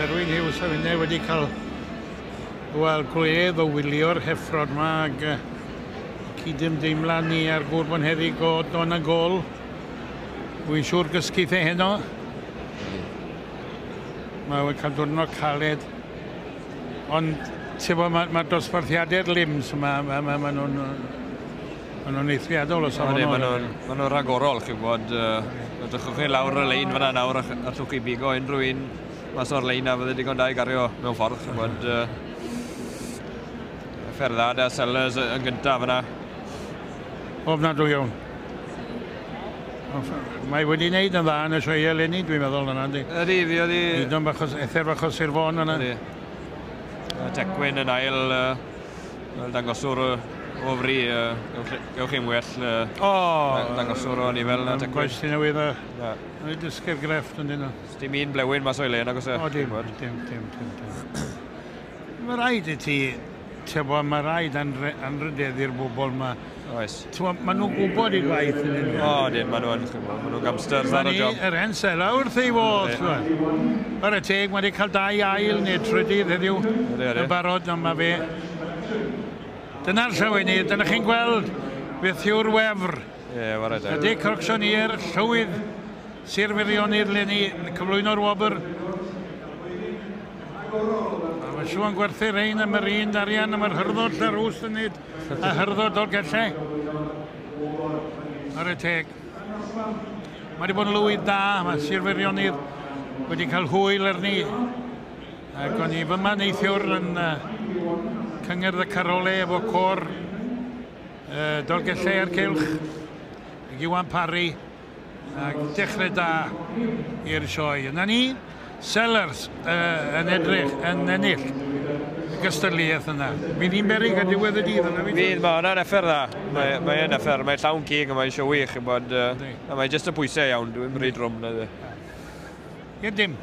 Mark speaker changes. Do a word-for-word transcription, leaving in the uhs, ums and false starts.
Speaker 1: Berwyn Hughes a finne wedi cael wel, gwledd o wylio'r heffrod yma ac uh, cydymdeimlad ni ar gŵr bonheddig o Don a Gol. Wy'n siŵr gysguth e heno. Mae wedi cael diwrnod caled. Ond, ti'n bod, mae'r ma dosbarthiadau'r limbs yma, ma, ma, ma nhw'n ma nhw'n eithriadol o safonol.
Speaker 2: Maen nhw'n ma nhw rhagorol, chi'n gwybod. Uh, Drychwch chi lawr y lein fyna nawr, a allwch chi bigo unrhyw un mas o'r lein a fydde digon da i gario mewn ffordd, chi'n gwybod. Uh, Ferddad a Sellers yn gyntaf fyna.
Speaker 1: Ofnadwy iawn. Mae wedi wneud yn dda yn y sioe eleni, dwi'n meddwl yna, yndi?
Speaker 2: Ydy, fi oedd i...
Speaker 1: Hyd yn bach o, ether bach o Sir Fôn yna.
Speaker 2: Ydy. Tecwyn yn ail, uh, fel dangoswr o fri, uh, gewch chi'n well uh,
Speaker 1: o,
Speaker 2: dangoswr o ni fel na Tecwyn.
Speaker 1: Gwaith sy'n newydd a wedi dysgu'r grefft yn dyn nhw.
Speaker 2: Dim un blewyn mas o'i le, nag oes e?
Speaker 1: O, dim, dim, dim, dim, dim. Mae rhaid i ti, ti'n mae rhaid anrhydeddu'r bobl yma.
Speaker 2: Oes.
Speaker 1: Ti'n maen nhw'n gwybod i gwaith yn hyn.
Speaker 2: O, dim, maen nhw'n, maen nhw'n gamsters ar y job.
Speaker 1: Yr hen sela wrth ei fodd. Ar y teg, mae wedi cael dau ail neu trydydd heddiw yn barod, ond mae fe. Dyna'r llawenydd, dyna chi'n gweld beth yw'r wefr.
Speaker 2: Ie, wara teg.
Speaker 1: Y Dic Auctioneer, llywydd Sir Feirionnydd leni, cyflwyno'r wobr. Mae'n siŵr yn gwerthu rhain am yr un arian, am yr hyrddod Llanrwst yn neud, a hyrddod Dolgellau. Ar y teg. Mae wedi bod yn lywydd da, mae Sir Feirionnydd wedi cael hwyl arni. Ac o'n i fyma neithiwr yn uh, cyngerdd y Carole efo côr uh, Dolgellau a'r Cylch, ac Iwan Parry, ac dechrau da i'r sioe. Yna ni, Sellers uh, yn edrych, yn ennill y gystadleuaeth yna. Fydd hi'n beryg ar diwedd y dydd yna?
Speaker 2: Fydd, mae hwnna'n effer dda. Mae, mae yn effer, mae llawn cig a mae'n sioe wych, bod, uh, a mae jyst y pwysau iawn, dwi'n rhy drwm.
Speaker 1: I'r dim.